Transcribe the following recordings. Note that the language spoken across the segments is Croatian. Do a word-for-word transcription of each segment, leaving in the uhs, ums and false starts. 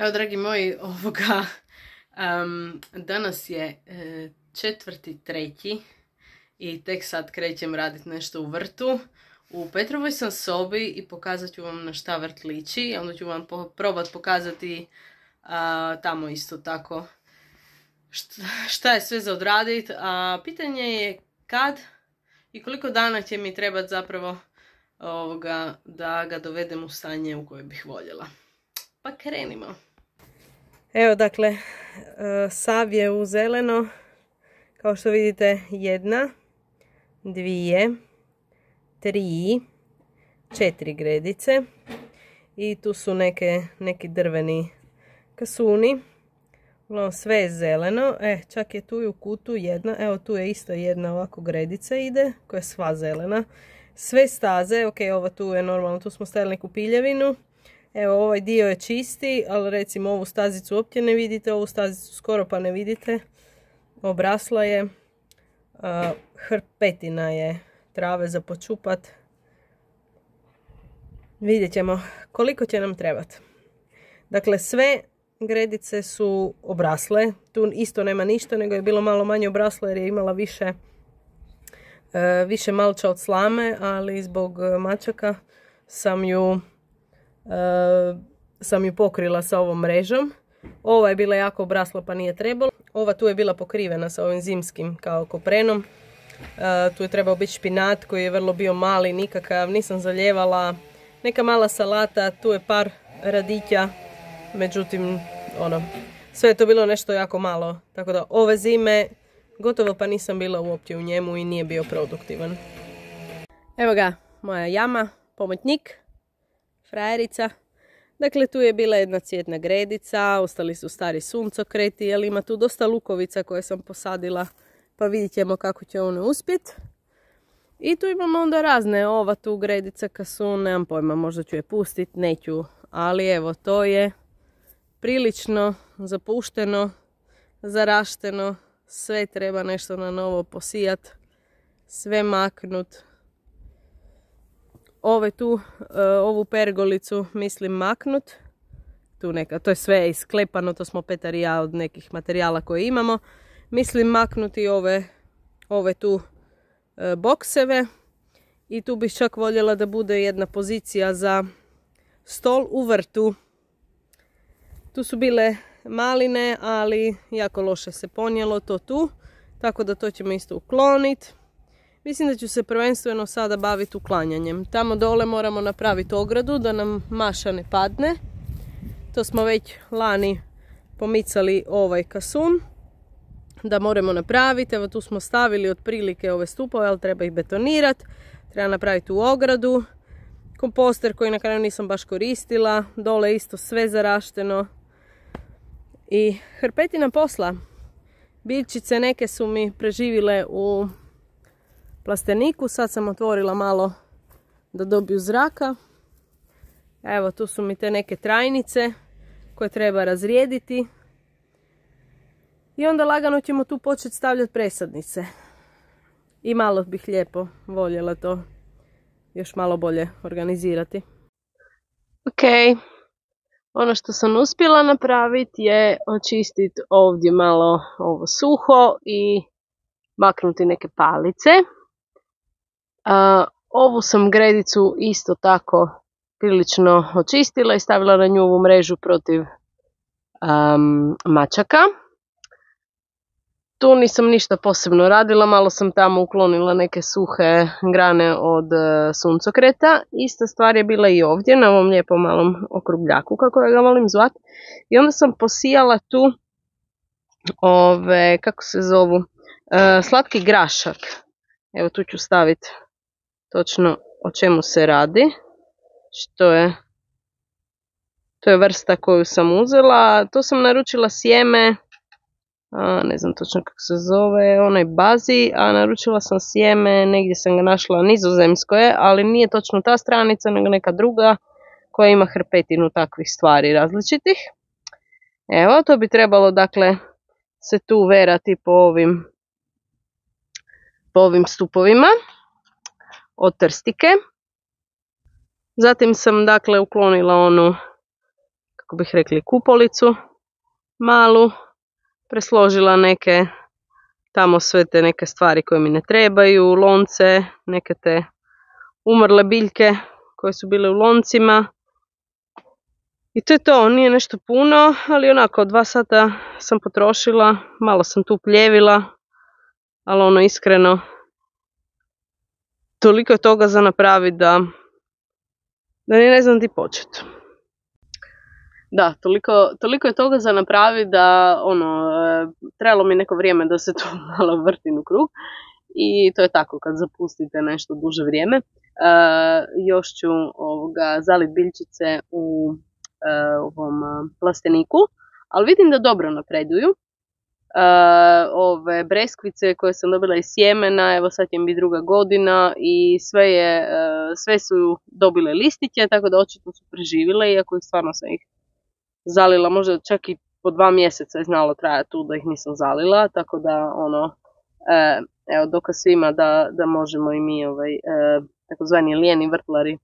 Evo, dragi moji, ovoga, um, danas je e, četvrti treći i tek sad krećem raditi nešto u vrtu. U Petrovoj sam sobi i pokazat ću vam na šta vrt liči. Onda ću vam po, probat pokazati a, tamo isto tako šta, šta je sve za odradit. A pitanje je kad i koliko dana će mi trebati zapravo ovoga, da ga dovedem u stanje u koje bih voljela. Pa krenimo. Evo, dakle, sav je u zeleno. Kao što vidite, jedna, dvije, tri, četiri gredice. I tu su neke, neki drveni kasuni. Uglavnom, sve je zeleno. E, čak je tu i u kutu jedna. Evo, tu je isto jedna ovako gredica ide, koja je sva zelena. Sve staze, ok, ova tu je normalno, tu smo stavili neku piljevinu. Evo, ovaj dio je čisti, ali recimo ovu stazicu uopće ne vidite, ovu stazicu skoro pa ne vidite. Obrasla je, a, hrpetina je trave za počupat. Vidjet ćemo koliko će nam trebati. Dakle, sve gredice su obrasle, tu isto nema ništa, nego je bilo malo manje obraslo jer je imala više, e, više malča od slame, ali zbog mačaka sam ju... Uh, sam ju pokrila sa ovom mrežom. Ova je bila jako obrasla pa nije trebalo. Ova tu je bila pokrivena sa ovim zimskim kao koprenom. Uh, tu je trebao biti špinat koji je vrlo bio mali, nikakav, nisam zaljevala. Neka mala salata, tu je par radića. Međutim, ono, sve je to bilo nešto jako malo. Tako da ove zime gotovo pa nisam bila uopće u njemu i nije bio produktivan. Evo ga, moja jama, pomoćnik. Frajerica. Dakle, tu je bila jedna cvjetna gredica, ostali su stari suncokreti, jer ima tu dosta lukovica koje sam posadila, pa vidjet ćemo kako će one uspjeti. I tu imamo onda razne, ova tu gredica kasun, nemam pojma, možda ću je pustiti, neću, ali evo, to je prilično zapušteno, zarašteno, sve treba nešto na novo posijat, sve maknut. Ove tu, ovu pergolicu mislim maknut. Tu neka, to je sve isklepano, to smo Petar i ja od nekih materijala koje imamo. Mislim maknuti ove, ove tu bokseve. I tu bih čak voljela da bude jedna pozicija za stol u vrtu. Tu su bile maline, ali jako loše se ponijelo to tu. Tako da to ćemo isto ukloniti. Mislim da ću se prvenstveno sada baviti uklanjanjem. Tamo dole moramo napraviti ogradu da nam maša ne padne. To smo već lani pomicali ovaj kasun. Da moramo napraviti. Evo tu smo stavili otprilike ove stupove, ali treba ih betonirati. Treba napraviti u ogradu. Komposter koji na kraju nisam baš koristila. Dole isto sve zarašteno. I hrpetina posla. Biljčice neke su mi preživile u plasteniku, sad sam otvorila malo da dobiju zraka. Evo, tu su mi te neke trajnice koje treba razrijediti. I onda lagano ćemo tu početi stavljati presadnice. I malo bih lijepo voljela to još malo bolje organizirati. Ok, ono što sam uspjela napraviti je očistiti ovdje malo ovo suho i maknuti neke palice. Uh, ovu sam gredicu isto tako prilično očistila i stavila na nju ovu mrežu protiv um, mačaka. Tu nisam ništa posebno radila, malo sam tamo uklonila neke suhe grane od uh, suncokreta. Ista stvar je bila i ovdje na ovom lijepom malom okrugljaku, kako ja ga volim zvati. I onda sam posijala tu ove, kako se zovu, uh, slatki grašak. Evo tu ću staviti točno o čemu se radi. Što je, to je vrsta koju sam uzela. To sam naručila sjeme, a, ne znam točno kako se zove, onaj bazi, a naručila sam sjeme, negdje sam ga našla, nizozemsko je, ali nije točno ta stranica, nego neka druga koja ima hrpetinu takvih stvari različitih. Evo, to bi trebalo dakle se tu verati po ovim po ovim stupovima od trstike. Zatim sam dakle uklonila onu kako bih rekli, kupolicu malu, presložila neke tamo sve te neke stvari koje mi ne trebaju, lonce, neke te umrle biljke koje su bile u loncima. I to je to, nije nešto puno, ali onako dva sata sam potrošila, malo sam tu pljevila, ali ono iskreno, toliko je toga za napraviti da, da ni ne znam di početi. Da, toliko, toliko je toga za napraviti da ono, trebalo mi neko vrijeme da se to malo vrtim u krug. I to je tako kad zapustite nešto duže vrijeme. E, još ću ovoga, zalit biljčice u e, ovom plasteniku, ali vidim da dobro napreduju. E, ove breskvice koje sam dobila iz sjemena, evo sad im bi druga godina i sve, je, e, sve su dobile listiće, tako da očito su preživile, iako ih stvarno sam ih zalila, možda čak i po dva mjeseca je znalo trajati tu da ih nisam zalila, tako da ono, e, evo dokaz svima da, da možemo i mi ovaj, e, takozvani lijeni vrtlari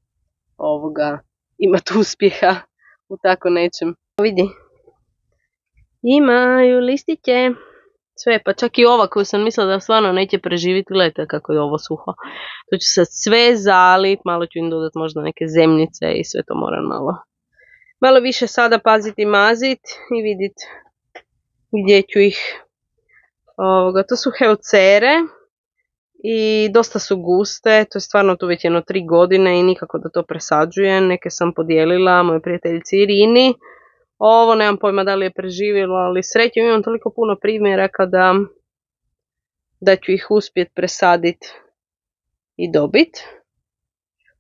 ovoga imati uspjeha u tako nečem. Vidi, imaju listiće, sve, pa čak i ova koju sam mislila da stvarno neće preživjeti, gledajte kako je ovo suho. To ću sad sve zalit, malo ću im dodati možda neke zemljice i sve to moram malo. Malo više sada paziti i maziti i vidjeti gdje ću ih. Ovoga, to su heucere i dosta su guste, to je stvarno tu već jedno tri godine i nikako da to presađujem. Neke sam podijelila mojoj prijateljici Irini. Ovo nemam pojma da li je preživjelo, ali srećom imam toliko puno primjeraka da, da ću ih uspjeti presaditi i dobiti.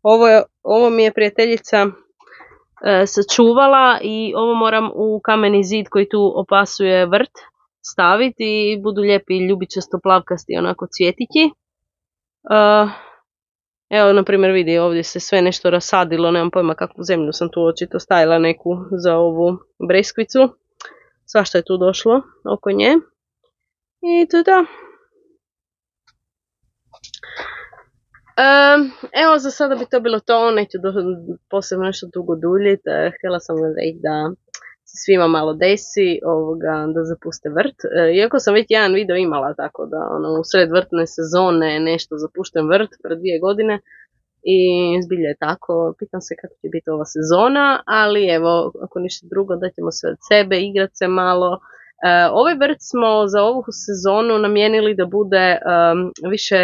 Ovo, ovo mi je prijateljica e, sačuvala i ovo moram u kameni zid koji tu opasuje vrt staviti i budu lijepi ljubičasto plavkasti onako cvjetići. Uh, evo na primjer vidi ovdje se sve nešto rasadilo, nemam pojma kakvu zemlju sam tu očito stavila neku za ovu breskvicu. Svašta je tu došlo oko nje. I to da. Um, evo za sada bi to bilo to, neću do, posebno nešto dugo duljiti. Htjela sam reći da se svima malo desi ovoga, da zapuste vrt. E, iako sam već jedan video imala tako da ono, u sred vrtne sezone nešto zapušten vrt pred dvije godine i zbilja je tako. Pitam se kako će biti ova sezona, ali evo ako ništa drugo da ćemo sve od sebe, igrat se malo. E, ovaj vrt smo za ovu sezonu namijenili da bude um, više,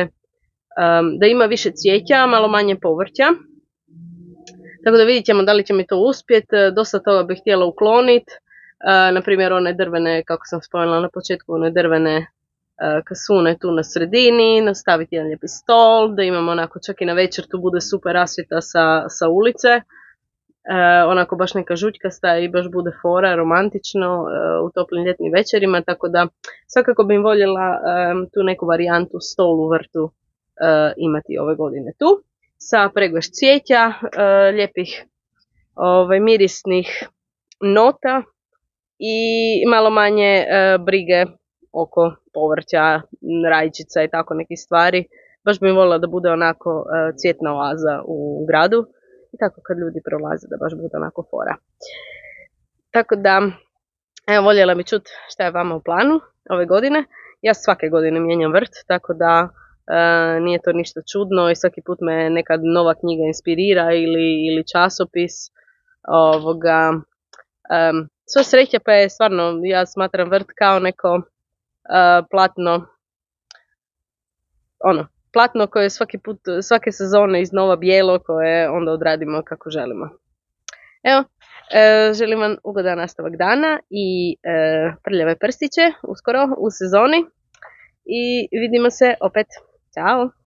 um, da ima više cvijeća, malo manje povrća. Tako da vidjet ćemo da li će mi to uspjeti, dosta toga bih htjela ukloniti, e, na primjer one drvene, kako sam spomenula na početku, one drvene e, kasune tu na sredini, nastaviti jedan lijepi stol, da imamo onako čak i na večer tu bude super rasvjeta sa, sa ulice, e, onako baš neka žućkasta i baš bude fora, romantično e, u toplim ljetnim večerima, tako da svakako bih voljela e, tu neku varijantu stol u vrtu e, imati ove godine tu. Sa preglaš cvijeća, e, lijepih ovaj, mirisnih nota i malo manje e, brige oko povrća, rajčica i tako nekih stvari. Baš bih voljela da bude onako e, cvjetna oaza u gradu i tako kad ljudi prolaze da baš bude onako fora. Tako da, evo voljela bi čuti šta je vama u planu ove godine. Ja svake godine mijenjam vrt, tako da Uh, nije to ništa čudno i svaki put me neka nova knjiga inspirira ili, ili časopis. Ovoga, um, sve sreće pa je stvarno, ja smatram vrt kao neko uh, platno, ono, platno koje svaki put, svake sezone iznova bijelo koje onda odradimo kako želimo. Evo, uh, želim vam ugodan nastavak dana i uh, prljave prstiće uskoro u sezoni i vidimo se opet. Ćao!